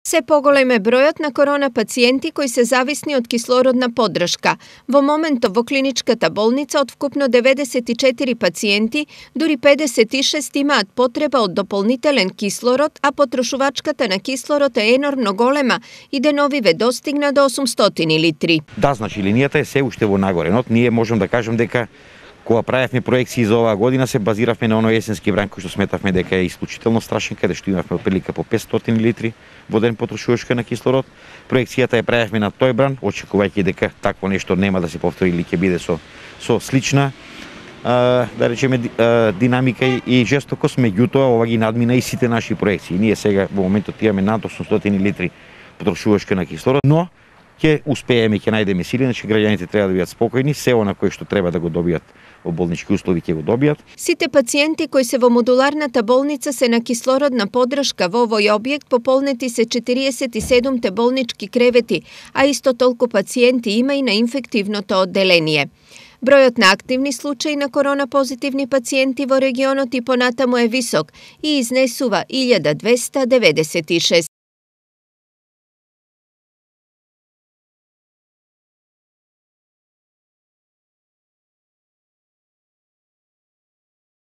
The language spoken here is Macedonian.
Се поголем е бројот на корона пациенти кои се зависни од кислородна поддршка. Во моментов во клиничката болница од вкупно 94 пациенти, дури 56 имаат потреба од дополнителен кислород, а потрошувачката на кислород е енормно голема и деновиве достигна до 800 литри. Да, значи линијата е се уште во нагоренот. Ние можем да кажем дека кога правевме проекции за оваа година се базиравме на оној есенски бран кој што сметавме дека е исклучително страшен, каде што имавме отприлика по 500 литри во ден потрошувачка на кислород. Проекцијата ја правевме на тој бран, очекувајќи дека такво нешто нема да се повтори или ќе биде со слична да речеме динамика и жестокост, меѓутоа ова ги надмина и сите наши проекции. Ние сега во моментот имаме над 800 литри потрошувачка на кислород, но ќе успееме, ќе најдеме сили, значи граѓаните треба да бидат спокојни, се она кое што треба да го добијат во болнички услови ќе го добијат. Сите пациенти кои се во модуларната болница се на кислородна поддршка во овој објект, пополнети се 47 болнички кревети, а исто толку пациенти има и на инфективното одделение. Бројот на активни случаи на корона позитивни пациенти во регионот и понатаму е висок и изнесува 1296.